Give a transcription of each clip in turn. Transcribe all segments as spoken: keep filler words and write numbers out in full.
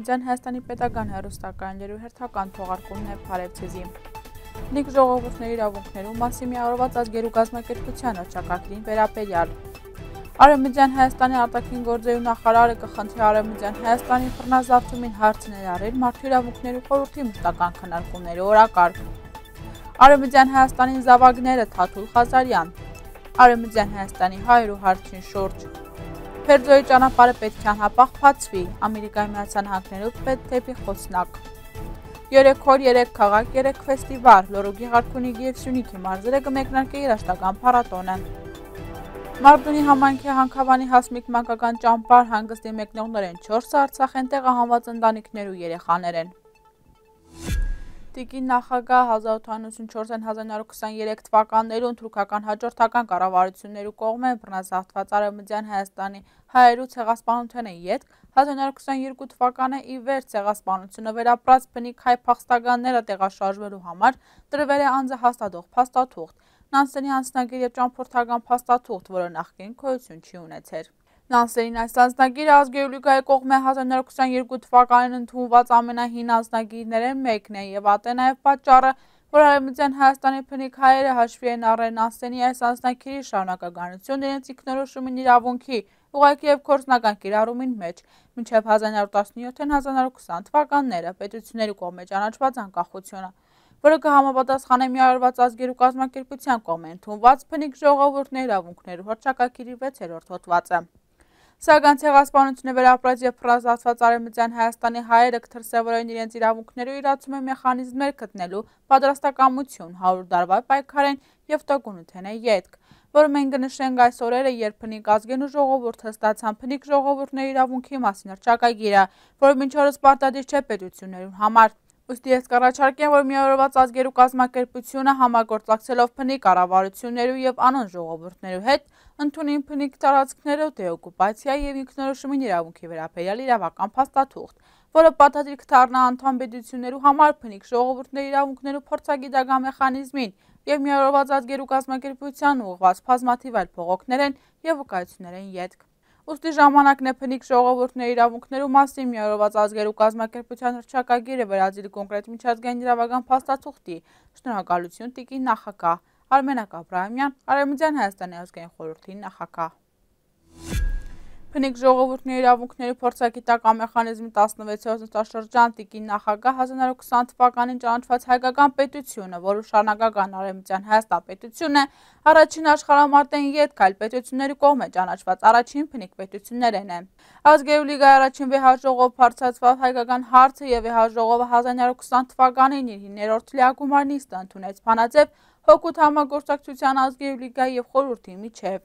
Արևմտյան Հայաստանի պետական հեռուստակայաններու հերթական թողարկումն է Փարեվցեզի։ Փնիկ ժողովուրդների իրավունքներու մասին միավորված ազգերու կազմակերպության հռչակագրին վերաբերյալ։ Արևմտյան Հայաստանի արտաքին գործերու նախարարը կխնդրի Արևմտյան Հայաստանի բռնազավթումին հարց ներառել մարդու իրավունքներու խորհրդի մշտական քննարկումների օրակարգ։ Արևմտյան Հայաստանի զավակները Թաթուլ Ղազարյան։ Արևմտյան Հայաստանի հայերու հարցին շուրջ։ Փերձոյի ճանապարհը պետք է անհապաղ բացվի, Ամերիկայի Միացյալ Նահանգներով պետք դեպի Խոսնակ։ Երեք օր, երեք քաղաք, երեք ֆեստիվալ, Լոռու Գեղարքունիքի և Սյունիքի մարզերը կմեկնարկի երաժշտական փառատոնը։ Մարզունի համայնքի Հանքավանի Հասմիկ մանկական ճամբար հանգստի մեկնողներ են չորսը, Արցախ են տեղահանված ընտանիքներու երեխաներ են։ Տիկին նախագահ հազար ութ հարյուր ութսունչորսին հազար նորը քսաներեք թվականներուն թուրքական հաջորդական կառավարություններու կողմէ բռնազավթված Արևմտյան Հայաստանի հայերու ցեղասպանութենէ ետք հազար նորը քսաներկու թվականը ի վեր ցեղասպանությունը վերապրած բնիկ հայ փախստականները տեղաշարժվելու համար տրվել է անձահաստատող փաստաթուղթ, Նանսենի անձնագիր և ճամփորդական փաստաթուղթ, որը նախկին գոյություն չի ունեցեր։ Նանսենին այս անձնագիրը ազգերու լիգայի կողմէ հազար նորը քսաներկու թվականին ընդունված ամենահին անձնագիրներէն մեկն է եւ ատե նաեւ պատճառը, որ Արևմտյան Հայաստանի բնիկ հայերը հաշվի են առել Նանսենի այս անձնագիրի շարունակականություն իրենց ինքնորոշումին իրավունքի ուղղակի եւ գործնական կիրառումին մեջ, մինչեւ հազար նորը տասնյոթ հազար նորը քսան թվականները պետությունների կողմէ ճանաչված անկախությունը, որը կհամապատասխանե միավորված ազգերու կազմակերպության կողմէ ընդունված բնիկ ժողովուրդների իրավունքներու հռչակագիրի վեցերորդ հոդվածը։ Սակայն ցեղասպանությունը վերապրած եւ բռնազավթված Արևմտյան Հայաստանի հայերը կդրսեւորեն իրենց իրավունքներու իրացումի մեխանիզմներ գտնելու պատրաստակամություն, հարյուր տարվա պայքարեն եւ տոկունութեն է ետք, որ մենք կնշենք այս օրերը, երբ բնիկ ազգերու ժողովուրդը ստացան բնիկ ժողովուրդների իրավունքի մասին հռչակագիրը, որը մինչ օրս պարտադիր չէ պետություններուն համար։ Ուստի ես կառաջարկեմ, որ միավորված ազգերու կազմակերպությունը համագործակցելով բնիկ կառավարություններու եւ անոն ժողովուրդներու հետ ընդունին բնիկ տարածքներու դեօկուպացիա եւ ինքնորոշումին իրավունքի վերաբերյալ իրավական փաստաթուղթ, որը պարտադիր կդառնա անդամ պետություններու համար բնիկ ժողովուրդների իրավունքներու փորձագիտական մեխանիզմին եւ միավորված ազգերու կազմակերպության ուղղված բազմաթիվ այլ փողոքներեն եւ վկայություններեն ետք։ Ուստի ժամանակն է բնիկ ժողովուրդների իրավունքներու մասին միավորված ազգերու կազմակերպության հռչակագիրը վերածել կոնկրետ միջազգային իրավական փաստաթուղթի։ Շնորհակալություն տիկին նախագահ Արմենակ Աբրահամյան, Արևմտյան Հայաստանի ազգային խորհրդի նախագահ։ Բնիկ ժողովուրդների իրավունքների փորձագիտական մեխանիզմի տասնվեցերորդ նստաշրջան տիկին նախագահ հազար նորը քսան թվականին ճանաչված հայկական պետությունը, որը շարունակական Արևմտյան Հայաստան պետությունն է, առաջին աշխարհամարտեն ետք այլ պետությունների կողմէ ճանաչված առաջին բնիկ պետություններն են։ Ազգերու լիգայի առաջին վեհաժողով բարձրացված հայկական հարցը եւ վեհաժողովը հազար նորը քսան թվականին իր հինգերորդ լիագումար նիստը ընդունեց բանաձև հօգուտ համագործակցության ազգերու լիգայի եւ խորհրդի միջեւ։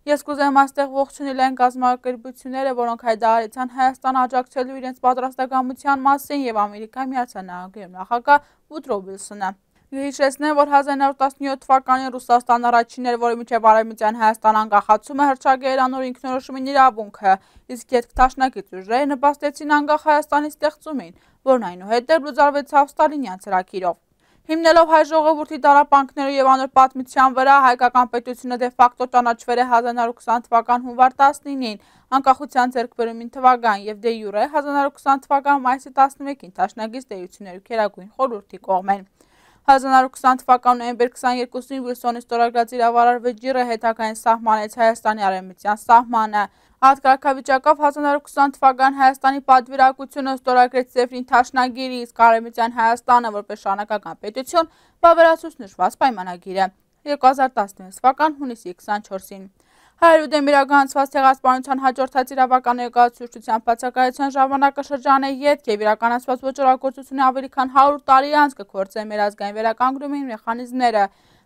Ես կուզեմ այստեղ ողջունել այն կազմակերպությունները, որոնք հայտարարեցան Հայաստան աջակցելու իրենց պատրաստակամության մասին եւ Ամերիկայի Միացյալ Նահանգներու նախագահ Վուդրո Վիլսոնը։ Հիշեցնեմ, որ հազար նորը տասնյոթ թվականին Ռուսաստանն առաջինն էր, որը մինչև Արևմտյան Հայաստան անկախացումը հռչակել անոր ինքնորոշումին իրավունքը, իսկ ետք դաշնակից ուժերը նպաստեցին անկախ Հայաստանի ստեղծումին, որն այնուհետև լուծարվեցավ ստալինյան ծրագիրով։ Հիմնելով հայ ժողովրդի տառապանքներու եւ անոր պատմության վրա, հայկական պետությունը դե ֆակտո ճանաչվել է հազար նորը քսան թվական հունվար տասնինին, անկախության ձեռքբերումին թվական եւ դե յուրե հազար նորը քսան թվական մայիսի տասնմեկին դաշնակից տերություններու Գերագույն խորհրդի կողմեն։ հազար նորը քսան թվական նոյեմբեր քսաներկուսին Վիլսոնի ստորագրած իրավարար վճիռը հետագային սահմանեց Հայաստանի արևմտյան սահմանը։ Այդ կարգավիճակով հազար նորը քսան թվական Հայաստանի պատվիրակությունը ստորագրեց Սեֆրին Թաշնագիրը, իսկ Արևմտյան Հայաստանը որպես շարունակական պետություն վավերացուց նշված պայմանագիրը երկու հազար տասնվեց թվական հունիսի քսանչորսին։ Հայերու դեմ իրականացված ցեղասպանության հաջորդած իրավական ներկայացուցչության բացակայության ժամանակաշրջանը ետք եւ իրականացված ոճրագործությունը ավելի քան հարյուր տարի անց կկործեն մեր ազգային վերականգնումին մեխանիզմները։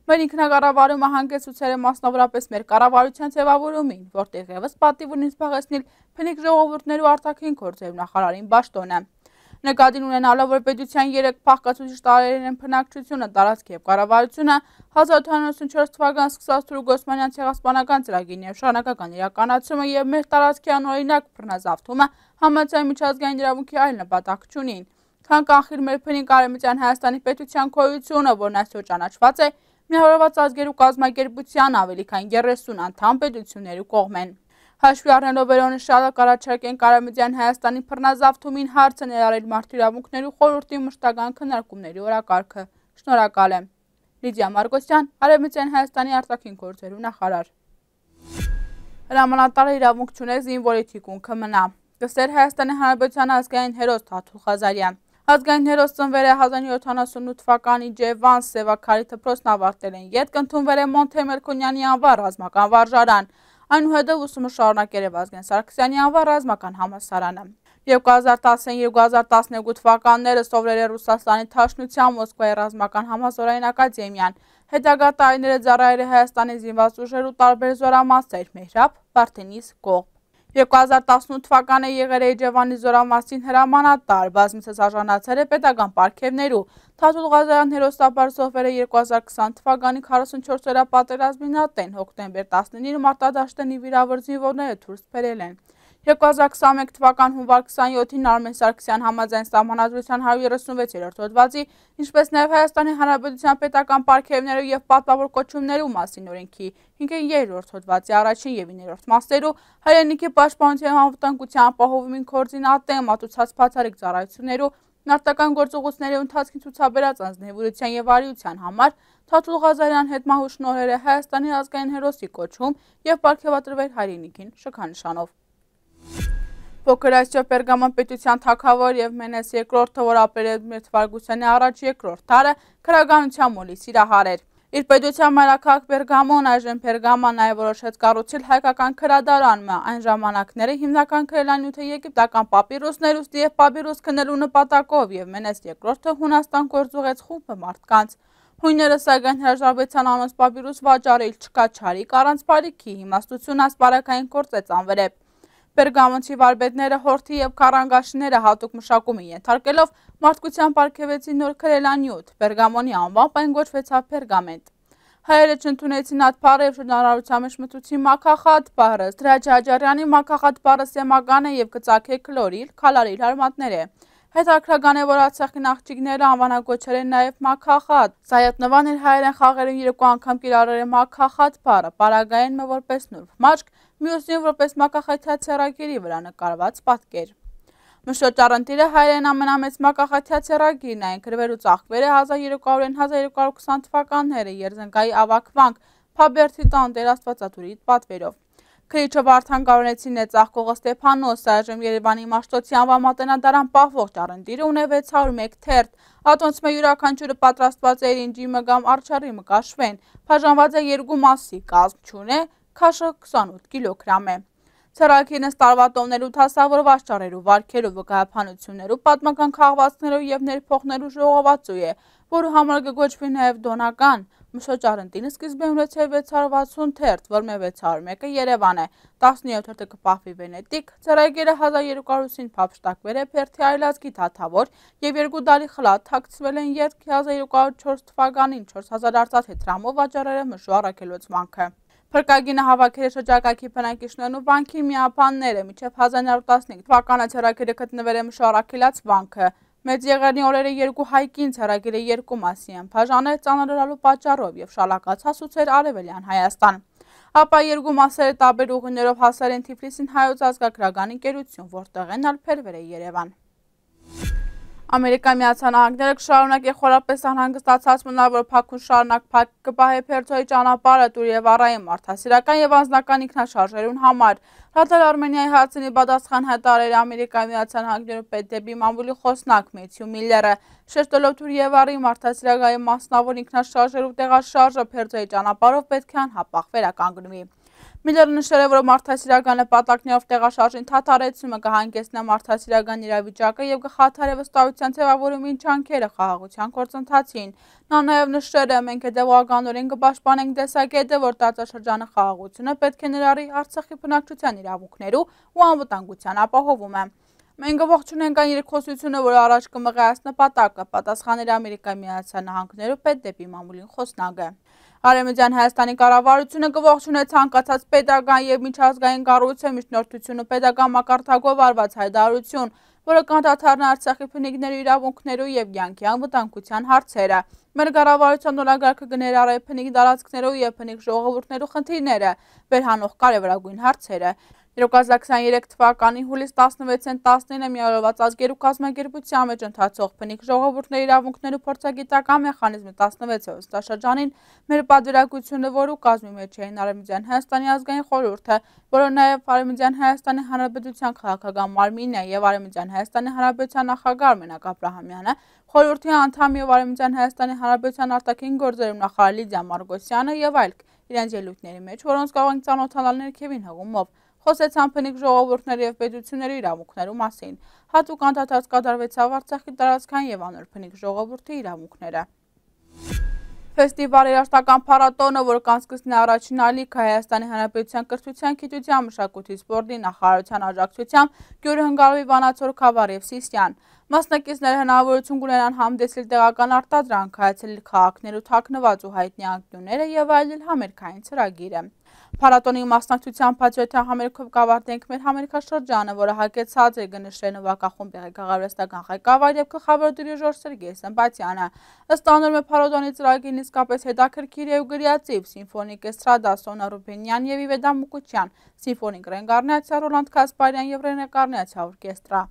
Մեր ինքնակառավարումը հանգեցուցել է մասնավորապես մեր կառավարության ձևավորումին, որտեղ ևս պատիվ ունի զբաղեցնել բնիկ ժողովուրդներու արտաքին գործերու նախարարին պաշտոնը։ Նկատին ունենալով, որ պետության երեք փախկացուցիչ տարրերեն բնակչությունը, տարածք եւ կառավարությունը հազար ութ հարյուր ութսունչորս թվականին սկսած Թուրք Օսմանյան ցեղասպանական ծրագիրն եւ շարունակական իրականացումը եւ մեր տարածքի անօրինակ բռնազավթումը համաձայն միջազգային իրավունքի այլ նպատակ չունին, քան կանխել մեր բնիկ Արևմտյան Հայաստանի պետության գոյությունը, որն այսօր ճանաչված է միավորված ազգերու կազմակերպության ավելի քան երեսուն անդամ պետություններու կողմեն։ Հաշվի առնելով վերոնշյալը կառաջարկենք Արևմտյան Հայաստանի բռնազավթումին հարցը ներառել Մարդու իրավունքների խորհրդի մշտական քննարկումների օրակարգը։ Շնորհակալ եմ։ Լիդիա Մարգոսյան, Արևմտյան Հայաստանի արտաքին գործերու նախարար։ Հրամանատարը իրավունք չունի զինվորի թիկունքը մնա։ Կսեր Հայաստանի Հանրապետության ազգային հերոս Թաթուլ Ղազարյան։ Ազգային հերոս ծնվել է հազար իննսուն յոթանասունութ թվականի Ջևան Սևաքարի դպրոցն ավարտել են, ետք ընդունվել է Մոնթե Մելքոնյանի անվան ռազմական վարժարան, այնուհետև ուսումը շարունակել է Վազգեն Սարգսյանի անվան ռազմական համալսարանը։ երկու հազար տասնինը երկու հազար տասներկու թվականները սովորել է Ռուսաստանի Դաշնության Մոսկվայի ռազմական համալսարանի ակադեմիան, հետագա տարիները ծառայել է Հայաստանի զինված ուժերու տարբեր զորամասեր՝ Մեհրաբ, Վարդենիս, Կողբ։ երկու հազար տասնութ թվականը եղել է Ջևանի զորամասին հրամանատար, բազմիցս արժանացել է պետական պարգևներու։ Թաթուլ Ղազարյան հերոսաբար զոհվել է երկու հազար քսան թվականի քառասունչորսերորդ պատերազմին ատեն, հոկտեմբեր տասնինը մարտադաշտենի վիրավոր զինվորները դուրս բերել են։ երկու հազար քսանմեկ թվական հունվար քսանյոթին Արմեն Սարգսյան համաձայն Սահմանադրության հարյուր երեսունվեցերորդ հոդվածի, ինչպես նաև Հայաստանի Հանրապետության պետական պարգևներու եւ պատվավոր կոչումներու մասին օրենքի հինգերորդ հոդվածի առաջին եւ իններորդ մասերու հայրենիքի պաշտպանության եւ անվտանգության ապահովումին կորձին ատեն մատուցած բացառիկ ծառայություններու մարտական գործողությունների ընթացքին ցուցաբերած անձնեվրության եւ արիության համար Թաթուլ Ղազարյան հետ մահու շնորհել է Հայաստանի ազգային հերոսի կոչում եւ պարգևատրվել հայրենիքին շքանշանով։ Փոքր Ասիա Պերգամոն պետության թագավոր եւ Մենես երկրորդը, որ ապրել է մեր թվարկությանի առաջ երկրորդ դարը, քրագանության մոլի սիրահար էր։ Իր պետության մայրաքաղաք Պերգամոն, այժմ Պերգամա, նաև որոշեց կառուցել հայկական քրադարանը, այն ժամանակները հիմնական քրելանյութը եգիպտական պապիրուսներ ուստի եւ պապիրուս քննելու նպատակով եւ Մենես երկրորդը Հունաստան գործուղեց խումբը մարդկանց։ Հույները սակայն հրաժարվեցան անոնց պապիրուս վաճառել չկաչարիկ առանց բարիքի, իմաստություն ասպարակային գործեց անվերեպ։ Պերգամոնցի վարպետները հորթի եւ քառանգաշիները հատուկ մշակում են ենթարկելով մարդկության պարգևեցին նոր քրելանյութ, Պերգամոնի անվամբ այն գոչվեցավ Պերգամենտ։ Հայերը չընդունեցին այդ բառը եւ շրջանառության մեջ մտուցին մաքախատ բառը, Սրաջ Աջարյանի մաքախատ բառը սեմական է եւ գծակե քլորիլ, քալարիլ հարմատներ է։ Հետաքրական է, որ Արցախի նախճիգները անվանագոչել են նաև մաքախատ։ Սայատնվան իր հայերեն խաղերում երկու անգամ կիրառել է մաքախատ բառը, պարագայինը որպես նուրբ մաշկ, մյուսին որպես մաքախաթյա ցերագիրի վրա նկարված պատկեր։ Մշոտ Առընտիրը հայերեն ամենամեծ մաքախաթյա ցերագիրն է, այն գրվելու ծաղկվել է հազար երեք հարյուրին հազար երկու հարյուր քսան թվականները Երզնկայի ավակվանք Փաբերթի տան Տեր Աստվածատուրի պատվերով։ Քրիչը Վարդան Գարոնեցին է ծաղկողը Ստեփանոս, այժմ Երևանի Մաշտոցի անվան մատենադարան պահվող Առընտիրը ունի վեց հարյուր մեկ թերթ, ատոնցմե յուրաքանչյուրը պատրաստված է ինջի մգամ արչարի մկաշվեն, բաժանված է երկու մասի, կազմ չունի, քաշը քսանութ կիլոգրամ է։ Ցերագիրն տարվա տոներու թասավորված ճառերու, վարքերու, վկայականություններու, պատմական քաղվածքներու եւ ներփոխներու ժողովածու է, որը համար կգոչվի նաեւ դոնական։ Մշոտ Առընտիրը սկիզբը ունեցել վեց հարյուր վաթսուն թերթ, որմե վեց հարյուր մեկը Երևան է, տասնյոթ թերթը կպահվի Վենետիկ, ցերագիրը հազար երկու հարյուրին փափշտակվել է Փերթի այլազգի թաթավոր եւ երկու դարի խլատ թաքցվել են յետք հազար երկու հարյուր չորս թվականին չորս հազար արծաթե դրամով վաճառել է Մշո Առաքելոց վանքը։ Փրկագինը հավաքել է շրջակայքի բնակիչներն ու վանքի միապանները, մինչև հազար նորը տասնհինգ թվականը ցերագիրը գտնվել է Մշո Առաքելոց վանքը։ Մեծ եղերնի օրերը երկու հայկին ցերագիրը երկու մասի են բաժանել ծանրալու պատճառով եւ շալակած հասուցել Արևելյան Հայաստան։ Ապա երկու մասերը տարբեր ուղիներով հասել են Թիֆլիսին հայոց ազգագրական ընկերություն, որտեղ են ալփերվել է Երևան։ Ամերիկայի Միացյալ Նահանգները կշարունակի խորապես անհանգստացած մնալ, որ Բաքուն շարունակ փակ կպահի Փերձոյի ճանապարհը դուր եւ առայում մարդասիրական եւ անձնական ինքնաշարժերուն համար։ Ռադալ Արմենիայի հարցինի պատասխան հայտարարել Ամերիկայի Միացյալ Նահանգներու պետդեպի մամուլի խոսնակ Մեթյու Միլլերը, շեշտելով դուր եւ առայում մարդասիրական մասնավոր ինքնաշարժերու տեղաշարժը Փերձոյի ճանապարհով պետք է անհապաղ վերականգնվի։ Միլլերը նշել է, որ մարդասիրական նպատակներով տեղաշարժին թաթարեցումը կհանգեցնի մարդասիրական իրավիճակը եւ կխաթարի վստահության ձևավորումին ջանքերը խաղաղության գործընթացին։ Նա նաեւ նշել է, մենք հետեւողականորեն կպաշտպանենք տեսակետը, որ տարածաշրջանի խաղաղությունը պետք է ներառի Արցախի բնակչության իրավունքներու ու անվտանգության ապահովումը։ Մենք ողջունենք այն երկխոսությունը, որը առաջ կմղի այս նպատակը, պատասխանել Ամերիկայի Միացյալ Նահանգներու պետդեպի մամուլին խոսնակը։ Արևմտյան Հայաստանի կառավարությունը կողջունե ցանկացած պետական եւ միջազգային կառույցի միջնորդություն ու պետական մակարդակով արված հայտարարություն, որը կանդադառնա Արցախի բնիկների իրավունքներու եւ կյանքի անվտանգության հարցերը։ Մեր կառավարության օրակարգը կներառի բնիկ տարածքներու եւ բնիկ ժողովուրդներու խնդիրները, վերհանող կարևորագույն հարցերը։ երկու հազար քսաներեք թվականի հուլիս տասնվեցին տասնինը միավորված ազգերու կազմակերպության մեջ ընթացող բնիկ ժողովուրդների իրավունքներու փորձագիտական մեխանիզմի տասնվեցերորդ նստաշրջանին մեր պատվիրակությունը, որու կազմի մեջ էին Արևմտյան Հայաստանի ազգային խորհուրդը, որը նաև Արևմտյան Հայաստանի Հանրապետության քաղաքական մարմինն է եւ Արևմտյան Հայաստանի Հանրապետության նախագահ Արմենակ Աբրահամյանը, խորհրդի անդամ եւ Արևմտյան Հայաստանի Հանրապետության արտաքին գործերու նախարար Լիդիա Մարգոսյանը եւ այլք իրենց ելույթների մեջ, որոնց կարող ենք ծանոթանալ ներքևին հղումով, խոսեցան բնիկ ժողովուրդների եւ պետությունների իրավունքներու մասին։ Հատուկ անդադարձ կատարվեցավ Արցախի տարածքային եւ անոր բնիկ ժողովրդի իրավունքները։ Ֆեստիվալ երաժշտական փառատոնը, որ կանցկացնի առաջին ալիքը Հայաստանի Հանրապետության կրթության, գիտության, մշակույթի, սպորտի նախարարության աջակցությամբ Գյուրհնգալովի, Վանաձոր, Քավառ եւ Սիսիան։ Մասնակիցները հնարավորություն կունենան համդեսել տեղական արտադրանք, հայցելել քաղաքներու թաքնված ու հայտնի անկյունները եւ այլել համերգային ծրագիրը։ Փառատոնի մասնակցությամբ հաջորդյալ համերգով կավարտենք մեր համերգաշրջանը, որը հագեցած է գնշրեն նվագախումբի ղեկավարվեստական ղեկավար եւ գլխավոր դիրիժոր Սերգեյ Սմբատյանը։ Ըստ անորմե փառատոնի ծրագիրն իսկապես հետաքրքիր է ու գրիացիվ, սիմֆոնիկ էստրադա Սոնա Ռուբինյան եւ Իվեդա Մուկուչյան, սիմֆոնիկ ռենգարնացիա Ռոլանդ Կասպարյան եւ ռենեկարնացիա օրկեստրա։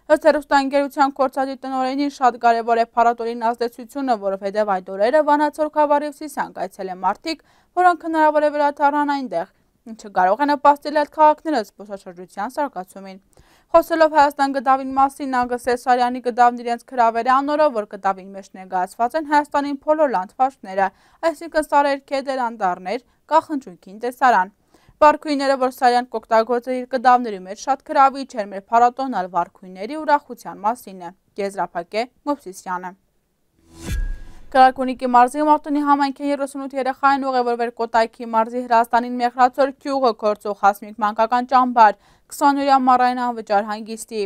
Ըստ հեռուստաընկերության գործադի տնօրենին շատ կարևոր է փառատոնի ազդեցությունը, որովհետև այդ օրերը Վանաձոր, Քավառ եւ Սիսիան կայցելեն մարդիկ, որոնք հնարավոր է վերադառնան այնտեղ, ինչը կարող է նպաստել այդ քաղաքները զբոսաշրջության զարգացումին։ Խոսելով Հայաստան գդավին մասին, նա գսեց Սարյանի գդավն իրենց քրավերը անորով, որ գդավին մեջ ներկայացված են Հայաստանի բոլոր լանդշաֆտները, այսինքն սարեր, քեդեր, անդառներ, կախնջույքին տեսարան։ Վարքույները, որ Սարյան կօգտագործել իր գդավների մեջ, շատ գրավիչ էր մեր փառատոնալ վարքույների ուրախության մասին է։ Եզրափակե Մովսիսյանը։ Գարակունիքի մարզի Մարտունի համայնքի երեսունութ երեխային ուղևորվել Կոտայքի մարզի Հրազդանին Մեղրացոր գյուղը գործող Հասմիկ մանկական ճամբար, քսանօրյա ամառային անվճար հանգիստի։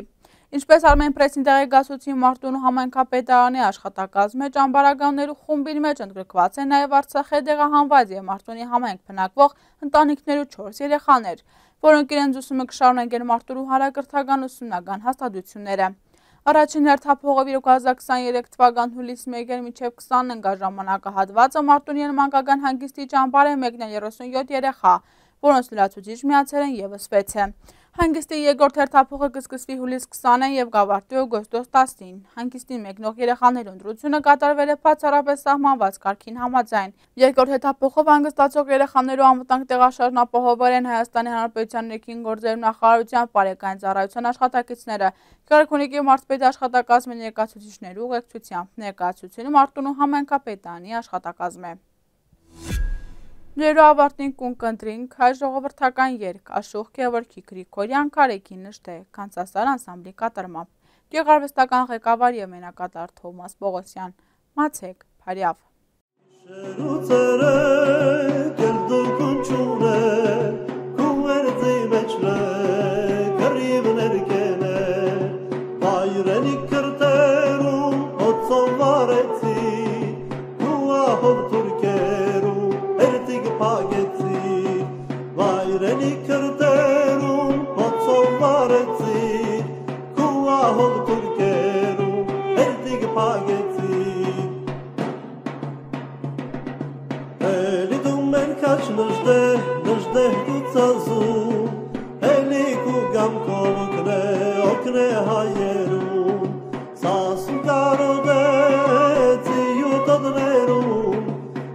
Ինչպես Armen Press-ին տեղեկացուցի, Մարտունու համայնքապետարանի աշխատակազմը ճամբարականներու խումբի մեջ ընդգրկված է նաև Արցախի դեղահանված եւ Մարտունի համայնք բնակվող ընտանիքներու չորս երեխաներ, որոնք իրենց ուսումը կշարունակեն Մարտունու հարակրթական ուսումնական հաստատությունները։ Առաջին հերթափողով երկու հազար քսաներեք թվական հուլիսի մեկին մինչև քսանընկա ժամանակահատվածը Մարտունի մանկական հանգիստի ճամբար է մեկնել երեսունյոթ երեխա, որոնց լրացուցիչ միացել են եւս վեցը։ Հանգիստի երկրորդ հերթափողը կսկսվի հուլիսի քսանին եւ կավարտվի օգոստոս տասին։ Հանգիստին մեկնող երեխաների ընտրությունը կատարվել է բացառապես սահմանված կարգին համաձայն։ Երկրորդ հերթափողով հանգստացող երեխաներու անվտանգ տեղաշարժն ապահովել են Հայաստանի Հանրապետության ներքին գործերու նախարարության բարեկային ծառայության աշխատակիցները, Գարակունիքի մարզպետի աշխատակազմի ներկայացուցիչներու ուղեկցությամբ։ Ներկայացուցիչը Մարտունու համայնքապետարանի աշխատակազմ է։ Ներու ավարտին կուն կընտրինք հայ ժողովրդական երգ Աշուխ Գևորգի Գրիգորյան Քարեքի նշտե Կանցասար անսամբլի կատարմամբ։ Գեղարվեստական ղեկավար եւ մենակատար Թովմաս Պողոսյան։ Մացեք Փարյավ։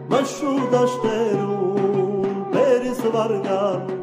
Mashu dashterun peris vargan